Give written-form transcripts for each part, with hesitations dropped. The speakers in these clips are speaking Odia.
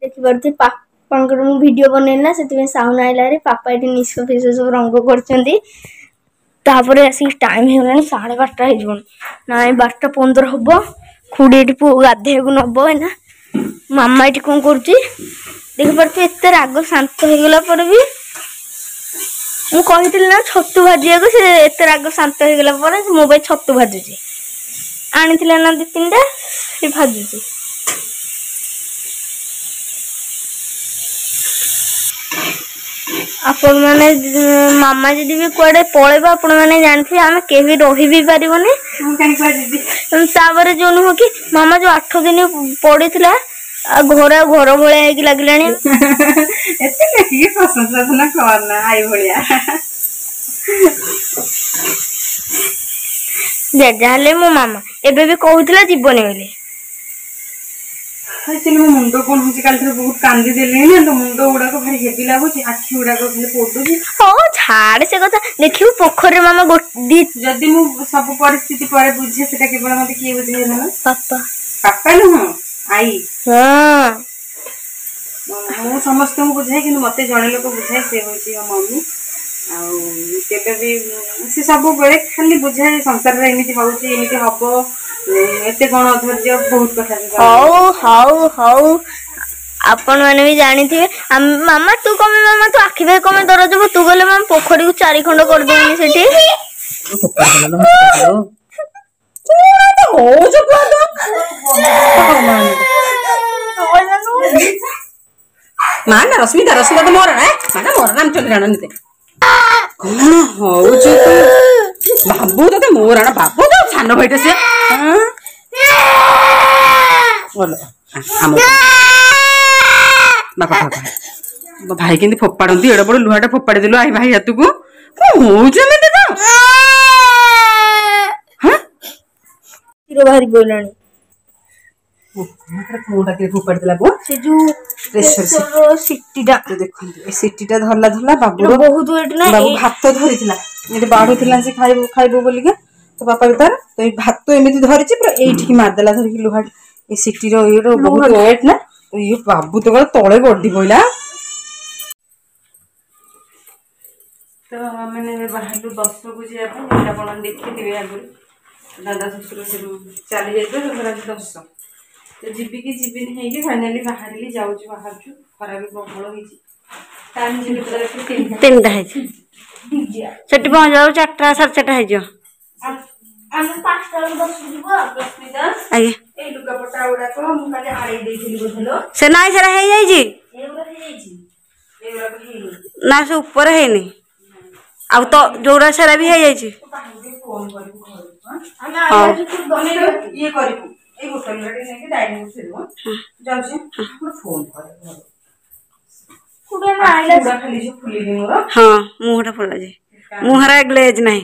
ଦେଖିପାରୁଥିବେ ପାପାଙ୍କର ମୁଁ ଭିଡ଼ିଓ ବନେଇଲି ନା, ସେଥିପାଇଁ ସାଉଣ୍ଡ ଆଇଲା। ପାପା ଏଠି ନିଶ ଫିସ ସବୁ ରଙ୍ଗ କରୁଛନ୍ତି। ତାପରେ ଆସିକି ଟାଇମ୍ ହେଇଗଲାଣି, 12:30 ହେଇଯିବଣି। ନାଇଁ, 12:15 ହବ। ଖୁଡ଼ି ଏଠି ପୁଅ ଗାଧେଇବାକୁ ନବ ଏଇନା। ମାମା ଏଠି କଣ କରୁଛି ଦେଖିପାରୁଥିବେ। ଏତେ ରାଗ ଶାନ୍ତ ହେଇଗଲା ପରେ ବି, ମୁଁ କହିଥିଲି ନା ଛତୁ ଭାଜିବାକୁ, ସେ ଏତେ ରାଗ ଶାନ୍ତ ହେଇଗଲା ପରେ ମୋ ପାଇଁ ଛତୁ ଭାଜୁଛି। ଆଣିଥିଲା ନା ଦି ତିନିଟା, ସେ ଭାଜୁଛି। ଆପଣମାନେ, ମାମା ଯଦି ବି କୁଆଡେ ପଳେଇବ, ଆପଣମାନେ ଜାଣିଥିବେ ଆମେ କେହି ରହି ବି ପାରିବୁନି। ତାପରେ ଯୋଉ ନୁହଁ କି ମାମା ଯୋଉ 8 ଦିନ ପଡିଥିଲା, ଆଉ ଘର ଆଉ ଘର ଭଳିଆ ହେଇକି ଲାଗିଲାଣି। ଏତେ ଦେଖିକି ପ୍ରଶଂସା କରନା ଆଈ ଭଳିଆ। ଯାହାହେଲେ ମୋ ମାମା ଏବେ ବି କହୁଥିଲା ଯିବନି ବୋଲି। ଆକ୍ଚୁଆଲି ମୋ ମୁଣ୍ଡ କଣ ହଉଛି, କାଲିଠାରୁ ବହୁତ କାନ୍ଦି ଦେଲିଣି ନା, ତ ମୁଣ୍ଡ ଗୁଡାକ ଭାରି ହେଭି ଲାଗୁଛି, ଆଖି ଗୁଡାକ ଖାଲି ପୋଡୁଛି। ହଉ ଛାଡ ସେ କଥା। ଦେଖିବୁ ପୋଖରୀରେ ମାମା ଯଦି ମୁଁ ସବୁ ପରିସ୍ଥିତି ପରେ ବୁଝେ, ସେଟା କେବଳ ମତେ କିଏ ବୁଝେଇଲା ନା? ପାପା। ପାପା ନୁହଁ, ଆଈ। ହଁ, ମୁଁ ସମସ୍ତଙ୍କୁ ବୁଝାଏ, କିନ୍ତୁ ମତେ ଜଣେ ଲୋକ ବୁଝାଏ, ସେ ହଉଛି ମୋ ମମି। ଆଉ କେବେ ବି ସେ ସବୁବେଳେ ଖାଲି ବୁଝାଏ, ସଂସାରରେ ଏମିତି ହଉଛି, ଏମିତି ହବ, ଏତେ କଣ ଅଧୈର୍ଯ୍ୟ, ବହୁତ କଥା। ହଉ ହଉ ହଉ, ଆପଣ ମାନେ ବି ଜାଣିଥିବେ। ମାମା ତୁ କମେ, ମାମା ତୁ ଆଖି ଭାଇ କମେ ଦରଜ। ତୁ ଗଲେ ମାମା ପୋଖରୀକୁ ଚାରି ଖଣ୍ଡ କରିଦେବୁନି ସେଠି। ମା ନା ରଶ୍ମିତା, ରଶ୍ମିତା ତ ମୋର ମା ନା, ମୋର ରାମଚନ୍ଦ୍ର ରାଣ ନିତେ। କଣ ହଉଛୁ ତୁ ବାବୁ? ତତେ ମୋ ରାଣ ବାବୁ ତ ସାନ ଭାଇଟା ସିଏ। ଆମ ବାପା ବାପା ଭାଇ କେମିତି ଫୋପାଡ଼ନ୍ତି, ଏଡେ ବଡ ଲୁହାଟା ଫୋପାଡ଼ି ଦେଲୁ I ଭାଇ ହାତକୁ। କଣ ହଉଛୁ ଏମିତି ତ? କ୍ଷୀର ବାହାରି ପଡ଼ିଲାଣି। କୋଉଟା କିଏ ଫୋପାଡ଼ି ଦେଲା ପୁଅ? ସେ ଯୋଉ ପ୍ରେସର ସିଟିଟା ଦେଖନ୍ତୁ, ଏ ସିଟିଟା ଧରିଲା ଧରିଲା ବାବୁର ବହୁତ ୱେଟ୍ ନା। ବାବୁ ଭାତ ଧରିଥିଲା, ଏଠି ବାଢୁଥିଲା ସେ ଖାଇବୁ ଖାଇବୁ ବୋଲିକା, ତ ବାପା ବି ତାର ତ ଏଇ ଭାତ ଏମିତି ଧରିଛି, ପୁରା ଏଇଠିକି ମାରିଦେଲା ଧରିକି ଲୁହା। ଏ ସିଟିର ଇଏର ବହୁତ ୱେଟ୍ ନା। ଇଏ ବାବୁ ତ ତଳେ ଗଡି ପଇଲା। ତ ଆମେ ଏବେ ବାହାରିଲୁ ଦଶକୁ ଯିବା ପାଇଁ। ଯେମିତି ଆପଣ ଦେଖିଥିବେ ଆଗରୁ, ଦାଦା ଶ୍ୱଶୁର ସେଠୁ ଚାଲି ଯାଇଥିଲେ, ତାଙ୍କର ଆଜି ଦଶ। ତ ଯିବି କି ଯିବିନି ହେଇକି ଫାଇନାଲି ବାହାରିଲି, ଯାଉଛି, ବାହାରୁଛୁ। ଖରା ବି ପ୍ରବଳ ହେଇଛି। ଟାଇମ୍ କେତେଟା? 3ଟା ହେଇଛି। ସେଠି ପହଞ୍ଚିଲା 4ଟା 4:30 ହେଇଯିବ। ଆମେ 5ଟା ବେଳକୁ ଦଶ ଯିବୁ। ରଶ୍ମିତା ଆଜ୍ଞା, ଏଇ ଲୁଗାପଟା ଗୁଡାକ ମୁଁ କାଲି ଆଡ଼େଇ ଦେଇଥିଲି ବୋଧେ? ସେ ନାଇଁ, ସେଟା ହେଇଯାଇଛି। ଏଗୁଡ଼ା ହେଇଯାଇଛି ଏଗୁଡାକ ହେଇନି ନା, ସେ ଉପରେ ହେଇନି। ଆଉ ତ ଯୋଉଟା ସେଟା ବି ହେଇଯାଇଛି। ଫୋନ କରିବୁ ଘରକୁ? ଆମେ ହଉ। ଇଏ କରିବୁ, ଏଇ ବୋତଲ ଟିକେ ନେଇକି ଡାଇନିଂ ଥୋଇଦେବୁ। ଯାଉଛି, ଫୋନ କରେ ଘରକୁ। ଖାଲି ଯୋଉ ଫୁଲିନି ମୋର। ହଁ, ମୁହଁଟା ଫୁଲା, ମୁହଁରେ ଗ୍ଲେଜ୍ ନାହିଁ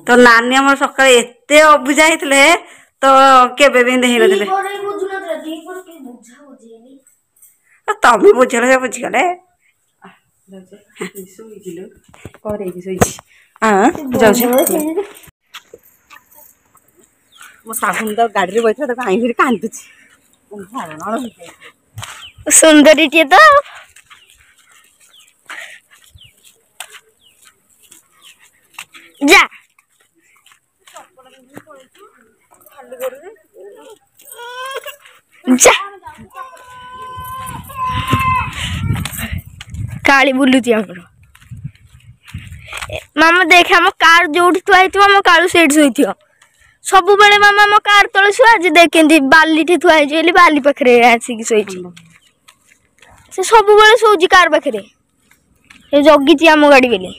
ତ। ନାନୀ ଆମର ସକାଳେ ଏତେ ଅବୁଝା ହେଇଥିଲେ ତ, କେବେ ବି ଏମିତି ହେଇନଥିଲେ। ତମେ ବୁଝିଲ, ସେ ବୁଝିଗଲେ। କରେଇକି ଶୋଇଛି। ଯାଉଛି। ମୋ ସାବୁନ ତ ଗାଡ଼ିରେ ବସିଥିଲା, ତାକୁ ଆଣିକିରି କାନ୍ଦୁଛି। ସୁନ୍ଦରୀଟିଏ ତ ଯା ଯା। କାଳି ବୁଲୁଛି ଆମର। ମାମା ଦେଖେ, ଆମ କାର ଯୋଉଠି ଥୁଆ ହେଇଥିବ, ଆମ କାଳୁ ସେଇଠି ଶୋଇଥିବ ସବୁବେଳେ। ମାମା ଆମ କାର ତଳେ ଶୁଆ, ଆଜି ଦେଖ କେମିତି ବାଲିଠି ଥୁଆ ହେଇଛି ବୋଲି ବାଲି ପାଖରେ ଆସିକି ଶୋଇଛି। ସେ ସବୁବେଳେ ଶୋଉଛି କାର ପାଖରେ, ସେ ଜଗିଛି ଆମ ଗାଡ଼ି ବୋଲି।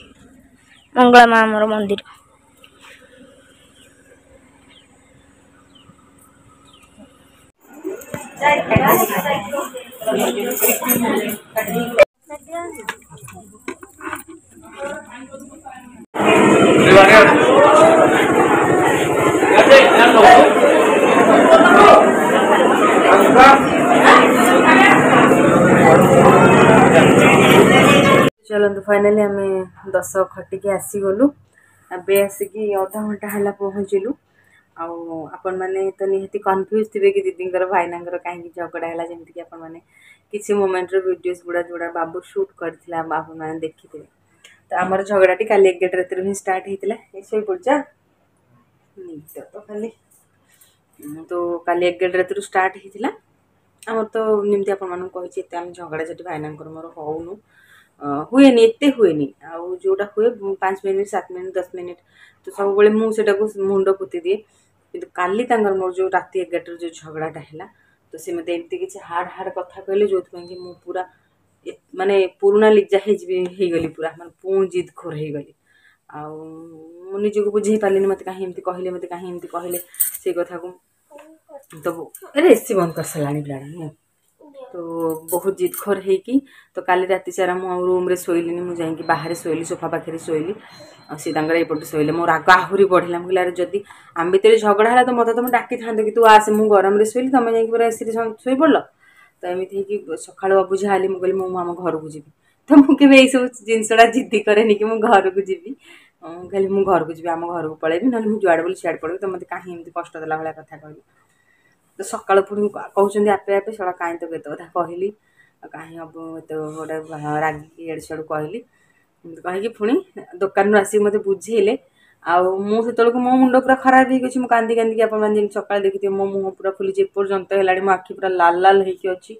ମଙ୍ଗଳା ମା ଆମର ମନ୍ଦିର। ଚାଲନ୍ତୁ, ଫାଇନାଲି ଆମେ ଦଶ ଖଟିକି ଆସିଗଲୁ। ଏବେ ଆସିକି ଅଧଘଣ୍ଟା ହେଲା ପହଞ୍ଚିଲୁ। ଆଉ ଆପଣମାନେ ତ ନିହାତି କନଫ୍ୟୁଜ୍ ଥିବେ କି ଦିଦିଙ୍କର ଭାଇନାଙ୍କର କାହିଁକି ଝଗଡ଼ା ହେଲା, ଯେମିତିକି ଆପଣମାନେ କିଛି ମୋମେଣ୍ଟର ଭିଡ଼ିଓସ୍ ଗୁଡ଼ା ଯେଉଁଟା ବାବୁ ସୁଟ୍ କରିଥିଲା ଆପଣମାନେ ଦେଖିଥିବେ। ତ ଆମର ଝଗଡ଼ାଟି କାଲି 11 ରାତିରୁ ହିଁ ଷ୍ଟାର୍ଟ ହେଇଥିଲା। ଏ ଶୋଇପଡ଼ିଛ ନିଦ ତ ଖାଲି। ତ କାଲି 11 ରାତିରୁ ଷ୍ଟାର୍ଟ ହେଇଥିଲା। ଆମର ତ ଯେମିତି ଆପଣମାନଙ୍କୁ କହିଛି, ଏତେ ଆମେ ଝଗଡ଼ା ଝାଟି ଭାଇନାଙ୍କର ମୋର ହଉନୁ, ହୁଏନି, ଏତେ ହୁଏନି। ଆଉ ଯେଉଁଟା ହୁଏ 5 ମିନିଟ୍, 7 ମିନିଟ୍, 10 ମିନିଟ୍, ତ ସବୁବେଳେ ମୁଁ ସେଇଟାକୁ ମୁଣ୍ଡ ପୋତି ଦିଏ। କିନ୍ତୁ କାଲି ତାଙ୍କର ମୋର ଯେଉଁ ରାତି 11ଟାରୁ ଯେଉଁ ଝଗଡ଼ାଟା ହେଲା, ତ ସେ ମୋତେ ଏମିତି କିଛି ହାର୍ଡ଼ ହାର୍ଡ଼ କଥା କହିଲେ, ଯେଉଁଥିପାଇଁ କି ମୁଁ ପୁରା ମାନେ ପୁରୁଣା ଲିଜା ହେଇଯିବି ହେଇଗଲି, ପୁରା ମାନେ ପୁଣି ଜିଦଖୋର ହେଇଗଲି। ଆଉ ମୁଁ ନିଜକୁ ବୁଝେଇ ପାରିଲିନି, ମୋତେ କାହିଁ ଏମିତି କହିଲେ, ମୋତେ କାହିଁ ଏମିତି କହିଲେ ସେଇ କଥାକୁ। ତ ଆରେ ଏସି ବନ୍ଦ କରିସାରିଲାଣି ପିଲାଟା ନୁହଁ। ତ ବହୁତ ଜିଦଖୋର ହେଇକି ତ କାଲି ରାତି ସାରା ମୁଁ ଆଉ ରୁମ୍ରେ ଶୋଇଲିନି, ମୁଁ ଯାଇକି ବାହାରେ ଶୋଇଲି, ସୋଫା ପାଖରେ ଶୋଇଲି। ଆଉ ସେ ତାଙ୍କର ଏପଟେ ଶୋଇଲେ। ମୋ ରାଗ ଆହୁରି ବଢ଼ିଲା। ମୁଁ କହିଲି, ଆରେ ଯଦି ଆମ ଭିତରେ ଝଗଡ଼ା ହେଲା ତ ମୋତେ ତମେ ଡାକିଥାନ୍ତ କି ତୁ ଆସେ। ମୁଁ ଗରମରେ ଶୋଇଲି, ତମେ ଯାଇକି ପୁରା ଏସିରେ ଶୋଇପଡ଼ିଲ। ତ ଏମିତି ହେଇକି ସକାଳୁ ଅବୁଝା ହେଲି। ମୁଁ କହିଲି, ମୁଁ ଆମ ଘରକୁ ଯିବି। ତ ମୁଁ କେବେ ଏଇସବୁ ଜିନିଷଟା ଜିଦ୍ଦି କରେନି କି ମୁଁ ଘରକୁ ଯିବି। ମୁଁ କହିଲି, ମୁଁ ଘରକୁ ଯିବି, ଆମ ଘରକୁ ପଳେଇବି, ନହେଲେ ମୁଁ ଯୁଆଡ଼େ ବୋଲି ସିଆଡ଼େ ପଳେଇବି। ତ ମୋତେ କାହିଁ ଏମିତି କଷ୍ଟ ଦେଲା ଭଳିଆ କଥା କହିଲି? ତ ସକାଳୁ ପୁଣି କହୁଛନ୍ତି ଆପେ ଆପେ, ଶଳା କାହିଁ ତ ଏତେ କଥା କହିଲି, ଆଉ କାହିଁ ହବ ଏତେ ଗୋଟେ ରାଗିକି ଇଆଡ଼ୁ ସିଆଡ଼ୁ କହିଲି, ଏମିତି କହିକି ପୁଣି ଦୋକାନରୁ ଆସିକି ମୋତେ ବୁଝେଇଲେ। ଆଉ ମୁଁ ସେତେବେଳକୁ ମୋ ମୁଣ୍ଡ ପୁରା ଖରାପ ହେଇକି ଅଛି। ମୁଁ କାନ୍ଦି କାନ୍ଦିକି, ଆପଣମାନେ ଯେମିତି ସକାଳେ ଦେଖିଥିବେ, ମୋ ମୁହଁ ପୁରା ଫୁଲିଛି, ଏପର୍ଯ୍ୟନ୍ତ ହେଲାଣି ମୋ ଆଖି ପୁରା ଲାଲ ଲାଲ ହେଇକି ଅଛି।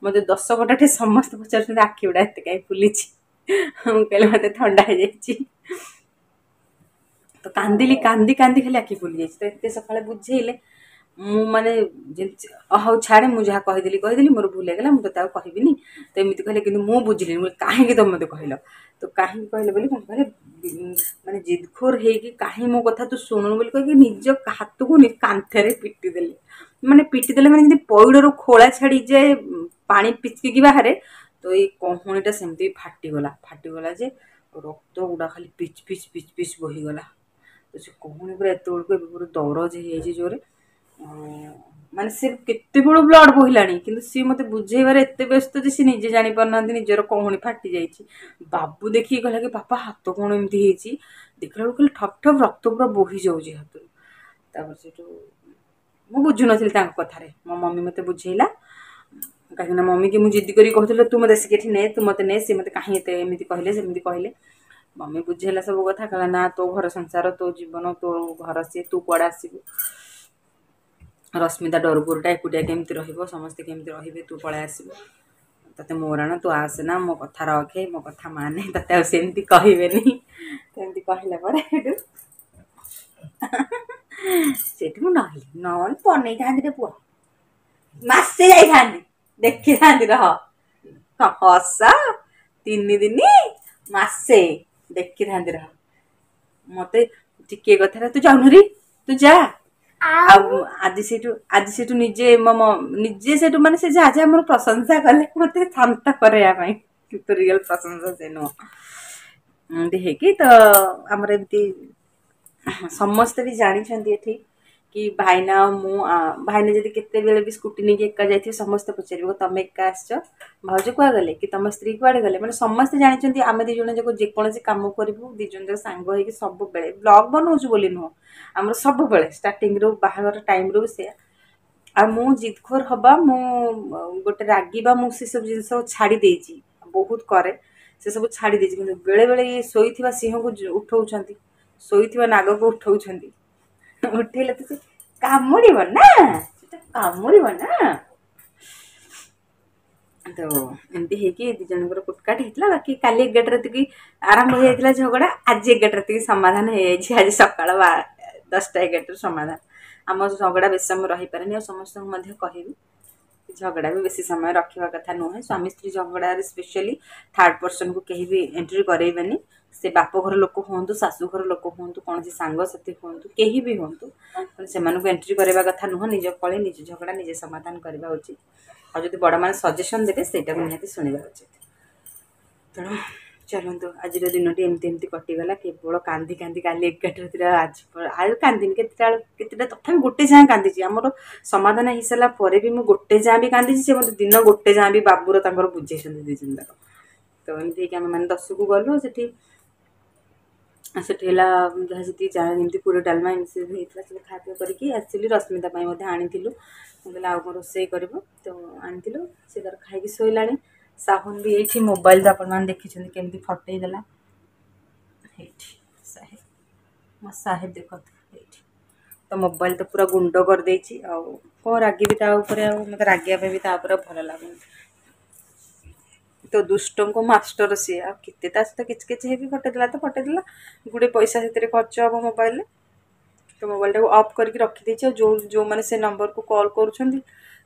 ମୋତେ 10 ଘଣ୍ଟାଠି ସମସ୍ତେ ପଚାରୁଛନ୍ତି, ଆଖି ଗୁଡ଼ା ଏତେ କାହିଁ ଫୁଲିଛି? ମୁଁ କହିଲି, ମୋତେ ଥଣ୍ଡା ହେଇଯାଇଛି। ତ କାନ୍ଦିଲି, କାନ୍ଦି କାନ୍ଦି ଖାଲି ଆଖି ଫୁଲି ଯାଇଛି। ତ ଏତେ ସକାଳେ ବୁଝେଇଲେ, ମୁଁ ମାନେ ଯେମିତି ହଉ ଛାଡ଼େ, ମୁଁ ଯାହା କହିଦେଲି କହିଦେଲି, ମୋର ଭୁଲ ହେଇଗଲା, ମୁଁ ତୋତେ ଆଉ କହିବିନି। ତ ଏମିତି କହିଲେ, କିନ୍ତୁ ମୁଁ ବୁଝିଲିନି। ମୁଁ କାହିଁକି ତମେ ମୋତେ କହିଲ? ତ କାହିଁକି କହିଲେ ବୋଲି କ'ଣ କହିଲେ, ମାନେ ଜିଦଖୋର ହେଇକି କାହିଁ ମୋ କଥା ତୁ ଶୁଣୁନୁ ବୋଲି କହିକି ନିଜ ହାତକୁ କାନ୍ଥରେ ପିଟି ଦେଲେ। ମାନେ ପିଟି ଦେଲେ ମାନେ ଯେମିତି ପଇଡ଼ରୁ ଖୋଳା ଛାଡ଼ିଯାଏ, ପାଣି ପିଚକିକି ବାହାରେ, ତ ଏଇ କହୁଣୀଟା ସେମିତି ଫାଟିଗଲା। ଫାଟିଗଲା ଯେ ରକ୍ତ ଗୁଡ଼ା ଖାଲି ପିଚ୍ ପିଚ୍ ପିଚ୍ ପିଚ୍ ବୋହିଗଲା। ତ ସେ କହୁଣୀ ପୁରା ଏତେବେଳକୁ ଏବେ ପୁରା ଦରଜ ହେଇଯାଇଛି ଜୋରେ। ମାନେ ସେ କେତେବେଳୁ ବ୍ଲଡ଼ ବୋହିଲାଣି, କିନ୍ତୁ ସିଏ ମୋତେ ବୁଝେଇବାରେ ଏତେ ବ୍ୟସ୍ତ ଯେ ସେ ନିଜେ ଜାଣିପାରୁନାହାନ୍ତି ନିଜର କହୁଣୀ ଫାଟି ଯାଇଛି। ବାବୁ ଦେଖିକି କହିଲା କି, ବାପା, ହାତ କ'ଣ ଏମିତି ହେଇଛି? ଦେଖିଲା ବେଳକୁ ଖାଲି ଠପ୍ ଠପ୍ ରକ୍ତ ପୁରା ବୋହି ଯାଉଛି ହାତରୁ। ତାପରେ ସେଠୁ ମୁଁ ବୁଝୁନଥିଲି ତାଙ୍କ କଥାରେ, ମୋ ମମି ମୋତେ ବୁଝେଇଲା। କାହିଁକିନା ମମିକି ମୁଁ ଜିଦ୍ଦି କରି କହୁଥିଲି, ତୁ ମୋତେ ଆସିକି ଏଠି ନେ, ତୁ ମୋତେ ନେ, ସେ ମୋତେ କାହିଁ ଏତେ ଏମିତି କହିଲେ, ସେମିତି କହିଲେ? ମମି ବୁଝେଇଲା ସବୁ କଥା। କହିଲା, ନା, ତୋ ଘର ସଂସାର, ତୋ ଜୀବନ, ତୋ ଘର ସିଏ, ତୁ କୁଆଡ଼େ ଆସିବୁ? ରଶ୍ମିତା ଡରକୁରଟା ଏକୁଟିଆ କେମିତି ରହିବ? ସମସ୍ତେ କେମିତି ରହିବେ? ତୁ ପଳେଇ ଆସିବୁ, ତତେ ମୋରାଣ, ତୁ ଆସେନା, ମୋ କଥା ରଖେ, ମୋ କଥା ମାନେ, ତତେ ଆଉ ସେମିତି କହିବେନି। ସେମିତି କହିଲା ପରେ ସେଠୁ ସେଠି ମୁଁ ନହେଲି, ନହେଲେ ବନେଇଥାନ୍ତି ରେ ପୁଅ, ମାସେ ଯାଇଥାନ୍ତି, ଦେଖିଥାନ୍ତି। ରହ ହସ, 3 ଦିନ ମାସେ ଦେଖିଥାନ୍ତି ରହ। ମତେ ଟିକେ କଥାରେ ତୁ ଯାଉନୁରେ, ତୁ ଯା। ଆଉ ଆଜି ସେଇଠୁ ନିଜେ ମୋ ନିଜେ ସେଇଠୁ ମାନେ ସେ ଯାହା ଯାହା ମୋର ପ୍ରଶଂସା କଲେ ମତେ ଶାନ୍ତ କରେଇବା ପାଇଁ, କିନ୍ତୁ ରିଅଲ ପ୍ରଶଂସା ସେ ନୁହଁ। ଏମିତି ହେଇକି ତ ଆମର ଏମିତି ସମସ୍ତେ ବି ଜାଣିଛନ୍ତି ଏଠି କି ଭାଇନା ଆଉ ମୁଁ, ଭାଇନା ଯଦି କେତେବେଳେ ବି ସ୍କୁଟି ନେଇକି ଏକା ଯାଇଥିବେ, ସମସ୍ତେ ପଚାରିବ, ତମେ ଏକା ଆସିଛ, ଭାଉଜ କୁଆଡ଼େ ଗଲେ କି ତମ ସ୍ତ୍ରୀ କୁଆଡ଼େ ଗଲେ? ମାନେ ସମସ୍ତେ ଜାଣିଛନ୍ତି ଆମେ 2 ଜଣ ଯାକ ଯେକୌଣସି କାମ କରିବୁ 2 ଜଣ ଯାକ ସାଙ୍ଗ ହେଇକି ସବୁବେଳେ। ବ୍ଲଗ୍ ବନଉଛୁ ବୋଲି ନୁହଁ, ଆମର ସବୁବେଳେ ଷ୍ଟାର୍ଟିଂରୁ ବାହାଘର ଟାଇମ୍ରୁ ବି ସେୟା। ଆଉ ମୁଁ ଜିଦଖୋର ହବା, ମୁଁ ଗୋଟେ ରାଗିବା, ମୁଁ ସେସବୁ ଜିନିଷ ଛାଡ଼ି ଦେଇଛି। ବହୁତ କରେ, ସେସବୁ ଛାଡ଼ି ଦେଇଛି। କିନ୍ତୁ ବେଳେବେଳେ ଇଏ ଶୋଇଥିବା ସିଂହକୁ ଉଠଉଛନ୍ତି, ଶୋଇଥିବା ନାଗକୁ ଉଠଉଛନ୍ତି। ଉଠେଇଲେ ତ ସେ କାମୁଡ଼ିବ ନା, ସେଟା କାମୁଡ଼ିବ ନା। ତ ଏମିତି ହେଇକି 2 ଜଣଙ୍କର କୁଟକାଟ ହେଇଥିଲା। ବାକି କାଲି 11 ରାତିକି ଆରମ୍ଭ ହେଇଯାଇଥିଲା ଝଗଡ଼ା, ଆଜି 11 ରାତିକି ସମାଧାନ ହେଇଯାଇଛି। ଆଜି ସକାଳ 10ଟା 11ଟାରୁ ସମାଧାନ। ଆମ ଝଗଡ଼ା ବେଶୀ ସମୟ ରହିପାରେନି। ଆଉ ସମସ୍ତଙ୍କୁ ମଧ୍ୟ କହିବି, ଝଗଡ଼ା ବି ବେଶୀ ସମୟ ରଖିବା କଥା ନୁହେଁ। ସ୍ୱାମୀ ସ୍ତ୍ରୀ ଝଗଡ଼ାରେ ସ୍ପେଶିଆଲି ଥାର୍ଡ଼ ପର୍ସନକୁ କେହି ବି ଏଣ୍ଟ୍ରି କରେଇବେନି। ସେ ବାପ ଘର ଲୋକ ହୁଅନ୍ତୁ, ଶାଶୁ ଘର ଲୋକ ହୁଅନ୍ତୁ, କୌଣସି ସାଙ୍ଗସାଥି ହୁଅନ୍ତୁ, କେହି ବି ହୁଅନ୍ତୁ, ସେମାନଙ୍କୁ ଏଣ୍ଟ୍ରି କରିବା କଥା ନୁହଁ। ନିଜ କଳି, ନିଜ ଝଗଡ଼ା ନିଜେ ସମାଧାନ କରିବା ଉଚିତ। ଆଉ ଯଦି ବଡ଼ମାନେ ସଜେସନ୍ ଦେବେ, ସେଇଟାକୁ ନିହାତି ଶୁଣିବା ଉଚିତ। ତେଣୁ ଚାଲନ୍ତୁ, ଆଜିର ଦିନଟି ଏମିତି ଏମିତି କଟିଗଲା, କେବଳ କାନ୍ଦି କାନ୍ଦି କାଲି 11 ରାତିରେ। ଆଜି ଆଉ କାନ୍ଦିନି। କେତେଟା କେତେଟା ତଥାପି ଗୋଟେ ଯାଏଁ କାନ୍ଦିଛି। ଆମର ସମାଧାନ ହେଇସାରିଲା ପରେ ବି ମୁଁ ଗୋଟେ ଯାଏଁ ବି କାନ୍ଦିଛି। ସେ ମୋତେ ଦିନ ଗୋଟେ ଯାଏଁ ବି ବାବୁର ତାଙ୍କର ବୁଝେଇଛନ୍ତି 2 ଜଣ ଯାକ। ତ ଏମିତି ହେଇକି ଆମେ ମାନେ ଦଶକୁ ଗଲୁ। ସେଠି ସେଠି ହେଲା ଯାହା ଯେତିକି ଯାହା ଯେମିତି ପୁରୀ ଡାଲମା ଏମିତି ସବୁ ହେଇଥିଲା, ସବୁ ଖାଇବା ପିଇବା କରିକି ଆସିଲି। ରଶ୍ମିତା ପାଇଁ ମଧ୍ୟ ଆଣିଥିଲୁ, ମୁଁ କହିଲି ଆଉ କ'ଣ ରୋଷେଇ କରିବ, ତ ଆଣିଥିଲୁ। ସେ ତାର ଖାଇକି ଶୋଇଲାଣି। ସାହୁନ ବି ଏଇଠି ମୋବାଇଲ ତ ଆପଣମାନେ ଦେଖିଛନ୍ତି କେମିତି ଫଟେଇ ଦେଲା। ଏଇଠି ସାହେବ, ମୋ ସାହେବ ଦେଖନ୍ତୁ ଏଇଠି ତ ମୋବାଇଲ ତ ପୁରା ଗୁଣ୍ଡ କରିଦେଇଛି। ଆଉ କ'ଣ ରାଗିବି ତା ଉପରେ, ଆଉ ମୋତେ ରାଗିବା ପାଇଁ ବି ତା ଉପରେ ଭଲ ଲାଗୁନି। ତ ଦୁଷ୍ଟଙ୍କ ମାଷ୍ଟର ସିଏ, ଆଉ କେତେ ତା ସହିତ କିଛି କିଛି ହେବି। ଫଟେଇଦେଲା ତ ଫଟେଇଦେଲା, ଗୁଡ଼େ ପଇସା ସେଥିରେ ଖର୍ଚ୍ଚ ହେବ ମୋବାଇଲରେ। ତ ମୋବାଇଲଟାକୁ ଅଫ୍ କରିକି ରଖିଦେଇଛି। ଆଉ ଯେଉଁ ଯେଉଁମାନେ ସେ ନମ୍ବରକୁ କଲ୍ କରୁଛନ୍ତି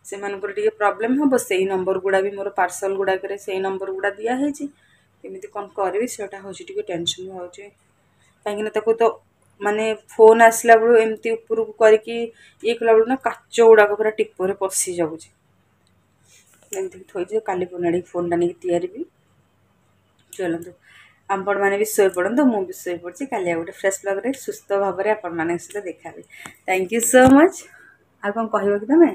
ସେମାନଙ୍କର ଟିକେ ପ୍ରୋବ୍ଲେମ୍ ହେବ। ସେଇ ନମ୍ବର ଗୁଡ଼ା ବି ମୋର ପାର୍ସଲ୍ ଗୁଡ଼ାକରେ ସେଇ ନମ୍ବର ଗୁଡ଼ା ଦିଆହେଇଛି। କେମିତି କ'ଣ କରିବି ସେଇଟା ହେଉଛି ଟିକେ ଟେନସନ୍ ହେଉଛି, କାହିଁକିନା ତାକୁ ତ ମାନେ ଫୋନ୍ ଆସିଲା ବେଳୁ ଏମିତି ଉପରକୁ କରିକି ଇଏ କଲାବେଳକୁ ନା କାଚ ଗୁଡ଼ାକ ପୁରା ଟିପରେ ପଶି ଯାଉଛି। ଏମିତି ଥୋଇଛି, କାଲି ପୁଣି ଫୋନ୍ଟା ନେଇକି ତିଆରିବି। ଚଲନ୍ତୁ, ଆପଣମାନେ ବି ଶୋଇପଡ଼ନ୍ତୁ, ମୁଁ ବି ଶୋଇପଡ଼ୁଛି। କାଲି ଆଉ ଗୋଟେ ଫ୍ରେଶ୍ ବ୍ଲଗ୍ରେ ସୁସ୍ଥ ଭାବରେ ଆପଣମାନଙ୍କ ସହିତ ଦେଖାହେବି। Thank you so much. ଆଉ କ'ଣ କହିବ କି ତମେ?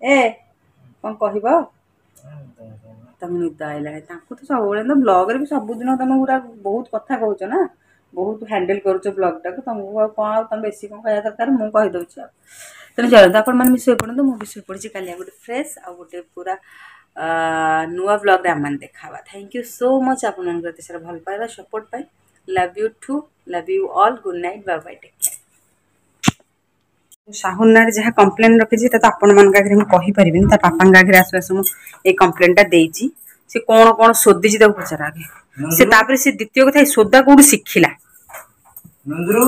ଏ କ'ଣ କହିବ? ତାଙ୍କୁ ନିଦ ଆଇଲାଣି। ତାଙ୍କୁ ତ ସବୁବେଳେ ତ ବ୍ଲଗ୍ରେ ବି ସବୁଦିନ ତମେ ପୁରା ବହୁତ କଥା କହୁଛ ନା, ବହୁତ ହ୍ୟାଣ୍ଡେଲ୍ କରୁଛ ବ୍ଲଗ୍ଟାକୁ। ତମକୁ ଆଉ କ'ଣ, ଆଉ ତମେ ବେଶୀ କ'ଣ କହିବା ଦରକାର, ମୁଁ କହିଦେଉଛି। ଆଉ ତେଣୁ ଚାଲନ୍ତୁ, ଆପଣମାନେ ବି ଶୋଇପଡ଼ନ୍ତୁ, ମୁଁ ବି ଶୋଇପଡ଼ିଛି। କାଲି ଆଉ ଗୋଟେ ଫ୍ରେଶ୍ ଆଉ ଗୋଟେ ପୁରା ନୂଆ ବ୍ଲଗ୍ରେ ଆମମାନେ ଦେଖା ହେବା। Thank you so much ଆପଣମାନଙ୍କର ଏତେ ସାରା ଭଲ ପାଇବା ସପୋର୍ଟ ପାଇଁ। Love you too, love you all, good night, bye bye, take care. Sahun ନାଁରେ ଯାହା କମ୍ପ୍ଲେନ୍ ରଖିଛି ସେଟା ତ ଆପଣମାନଙ୍କ ଆଗରେ ମୁଁ କହିପାରିବିନି। ତା ବାପାଙ୍କ ଆଗରେ ଆସୁ ଆସୁ ମୁଁ ଏଇ କମ୍ପ୍ଲେନ୍ଟା ଦେଇଛି। ସେ କ'ଣ କ'ଣ ଶୋଧିଛି ତାକୁ ପଚାର ଆଗେ ସେ, ତାପରେ ସେ ଦ୍ୱିତୀୟ କଥା ଏ ସୋଦା କୋଉଠୁ ଶିଖିଲା। ନନ୍ଦୁରୁ,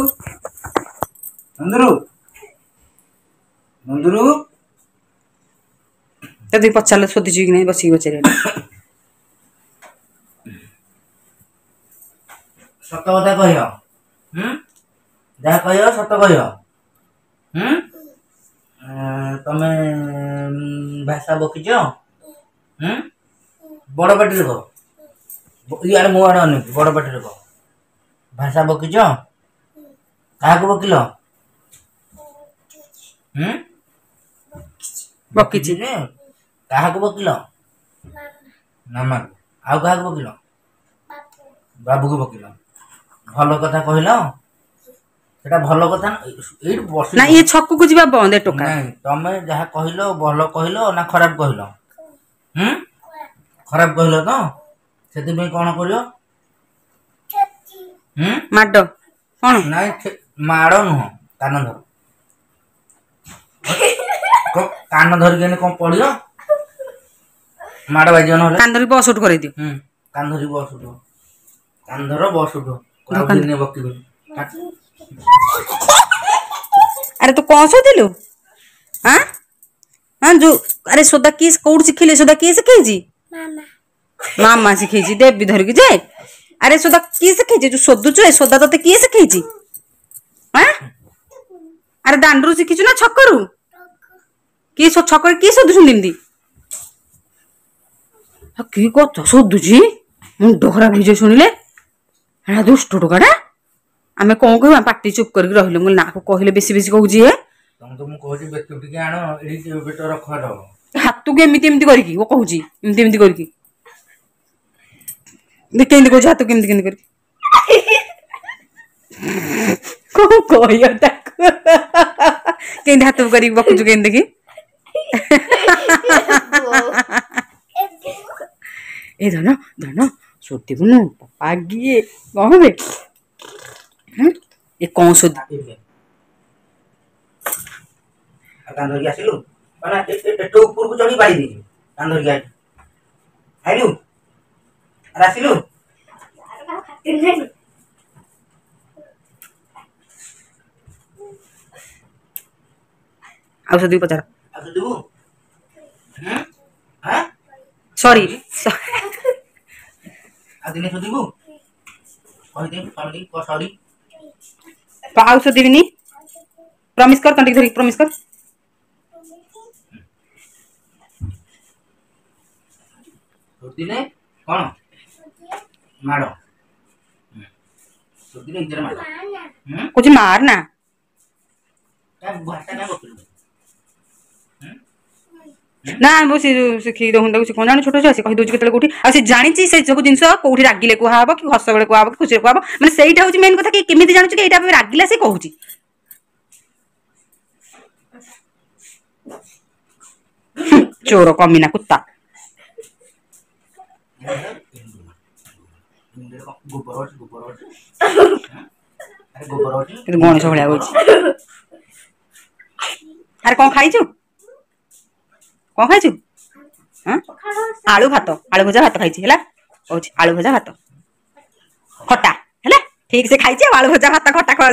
ନନ୍ଦୁରୁ, ନନ୍ଦୁରୁ, ତାକୁ ପଚାରିଲେ ଶୋଧିଛି କି ନାହିଁ, ବସିକି ପଚାରିବ। ସତ କଥା କହିବ, ଯାହା କହିବ ସତ କହିବ। ତମେ ଭାଷା ବକିଛ? ବଡ଼ ପାଟିରେ କହ, ଇଆଡ଼େ ମୋ ଆଡ଼େ ଅନେଇକି ବଡ଼ ପାଟିରେ କହ। ଭାଷା ବକିଛ? କାହାକୁ ବକିଲ? ବକିଛି ଯେ, କାହାକୁ ବକିଲ? ମାମାକୁ। ଆଉ କାହାକୁ ବକିଲ? ବାବୁକୁ ବକିଲ। ଭଲ କଥା କହିଲ, ସେଟା ଭଲ କଥା ନା? ଏଇଠି ବସି ନା, ଇଏ ଛକକୁ ଯିବା ବନ୍ଦ ଏ ଟୋକା। ନାଇଁ, ତମେ ଯାହା କହିଲ ଭଲ କହିଲ ନା ଖରାପ କହିଲ? ଖରାପ କହିଲ ତ, ସେଥିପାଇଁ କ'ଣ କରିବ? ମାଡ଼ କ'ଣ? ନାଇଁ, ମାଡ଼ ନୁହଁ, କାନ ଧର, କାନ ଧରିକି ଏନେ କ'ଣ ପଡ଼ିବ, ମାଡ଼ ବାଜିବ ନହେଲେ। କାନ ଧରିକି ବସ୍ ଉଠୁ କରେଇ ଦିଅ। କାନ ଧରିକି ବସ୍ ଉଠୁ, କାନ ଧର ବସ୍ ଉଠୁ, ଆଉ ଦିନେ ବକିବନି। ଆରେ ତୁ କ'ଣ ଶୋଧିଲୁ? ଆଁ ହଁ, ଯୋଉ ଆରେ ସୋଦା କିଏ କୋଉଠୁ ଶିଖିଲେ? ସୋଦା କିଏ ଶିଖେଇଛି? ମାମା ଶିଖେଇଛି। ଦେବୀ ଧରିକି ଯେ, ଆରେ ସୋଦା କିଏ ଶିଖେଇଛି ଯୋଉ ଶୋଧୁଛୁ? ଏ ସୋଦା ତତେ କିଏ ଶିଖେଇଛି? ଆଁ ଆରେ ଦାଣ୍ଡରୁ ଶିଖିଛୁ ନା ଛକରୁ? କିଏ ଛକରେ କିଏ ଶୋଧୁଛନ୍ତି ଏମିତି? କି କଥା ଶୋଧୁଛି, ମୁଣ୍ଡ ଖରାପ ହେଇଯିବ ଶୁଣିଲେ। ଏଟା ଦୁଷ୍ଟ ଟୋକାଟା। ଆମେ କ'ଣ କହିବୁ? ଆମେ ପାଟି ଚୁପ୍ କରିକି ରହିଲୁ। ମୁଁ କହିଲି ନା, କହିଲେ ବେଶୀ ବେଶୀ କହୁଛି ଏ। ତମକୁ ମୁଁ କହୁଛି ବେତ ଟିକେ ଆଣ, ଏଇଠି ବେଟ ରଖ। ହାତକୁ ଏମିତି ଏମିତି କରିକି ଓ କହୁଛି, ଏମିତି ଏମିତି କରିକି କେମିତି କହୁଛି, ହାତକୁ କେମିତି କେମିତି କରିକି କଣ କହିବ ତାକୁ? କେମିତି ହାତକୁ କରିକି ବକୁଛୁ କେମିତି ଦେଖି। ଏ ଧନ ଧନ, ଶୋଧିବୁନୁ ପାଗିଏ, କଣ ହେବେ ଏ? କଣ ଶୋଧି କାନ ଧରିକି ଆସିଲୁ ମାନେ ଏଠୁ ଉପରକୁ ଚଢି ବାଡ଼ି ଦେଇଛି। କାନ ଧରିକି ଆଇଲୁ, ଆଇଲୁ, ଆରେ ଆସିଲୁ। ଆଉ ଶୋଧିକି ପଚାର। ଆଉ ଶୋଧିବୁ? ସରି, ଆଉ ଦିନେ ଶୋଧିବୁ? କହିଦେ ସରି, ସରି। ଆଉ ଶୋଧିବିନି, ପ୍ରମିସ୍ କର, ତଣ୍ଟିକି ଧରିକି ପ୍ରମିସ୍ କର। ଶୋଧିଲେ କ'ଣ ମାଡ଼? ଶୋଧିଲେ ଇଜରେ ମାଡ଼ କହୁଛି, ମାର ନା। ଭାଷା କାଇଁ ବକିଲୁ? ନା, ମୁଁ ସେ ଶିଖେଇ ଦଉନି ତାକୁ। ସେ କଣ ଜାଣୁ? ଛୋଟ ଛୁଆ, ସେ କହିଦଉଛି କେତେବେଳେ କୋଉଠି। ଆଉ ସେ ଜାଣିଛି ସେ ସବୁ ଜିନିଷ କୋଉଠି ରାଗିଲେ କୁହାହବ କି ହସ ବେଳେ କୁହାହବ କି ଖୁସିରେ କୁହାହବ। ମାନେ ସେଇଟା ହଉଛି ମେନ୍ କଥା କି କେମିତି ଜାଣୁଛୁ କି ଏଇଟା ରାଗିଲା ସେ କହୁଛି। ଚୋର କମିନା କୁତ୍ତା। ଗଣେଶ ଭଳିଆ ହଉଛି। ଆରେ କଣ ଖାଇଛୁ? କଣ ଖାଇଛୁ? ଆଳୁ ଭାତ, ଆଳୁ ଭଜା ଭାତ ଖାଇଛି। ହେଲା, କହୁଛି ଆଳୁ ଭଜା ଭାତ ଖଟା ହେଲା। ଠିକ ସେ ଖାଇଛି। ଆଉ ଆଳୁ ଭଜା ଭାତ ଖଟା ଖା।